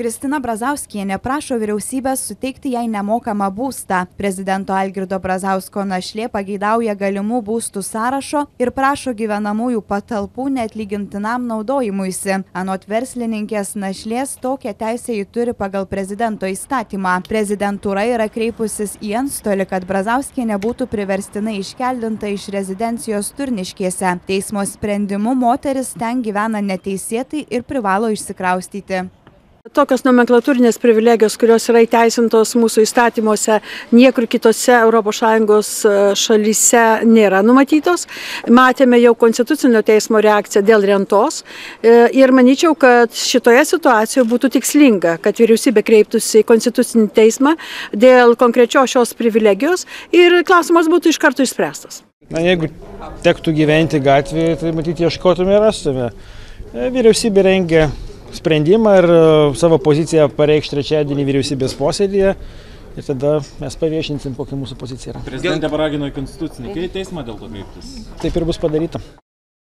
Kristina Brazauskienė prašo vyriausybės suteikti jai nemokamą būstą. Prezidento Algirdo Brazausko našlė pageidauja galimų būstų sąrašo ir prašo gyvenamųjų patalpų neatlygintinam naudojimuisi. Anot verslininkės našlės, tokią teisę ji turi pagal prezidento įstatymą. Prezidentūra yra kreipusis į antstolį, kad Brazauskienė būtų priverstinai iškeldinta iš rezidencijos Turniškėse. Teismo sprendimu moteris ten gyvena neteisėtai ir privalo išsikraustyti. Tokios nomenklatūrinės privilegijos, kurios yra įteisintos mūsų įstatymuose, niekur kitose ES šalyse nėra numatytos. Matėme jau Konstitucinio teismo reakciją dėl rentos ir manyčiau, kad šitoje situacijoje būtų tikslinga, kad vyriausybė kreiptųsi į Konstitucinį teismą dėl konkrečios šios privilegijos ir klausimas būtų iš karto išspręstas. Jeigu tektų gyventi gatvėje, tai matyti ieškotume ir rastume. Vyriausybė rengia sprendimą ir savo poziciją pareikš trečiadienį vyriausybės posėdėje ir tada mes paviešinsim, kokia mūsų pozicija yra. Prezidentė paragino į Konstitucinį teismą dėl to kreiptis. Taip ir bus padaryta.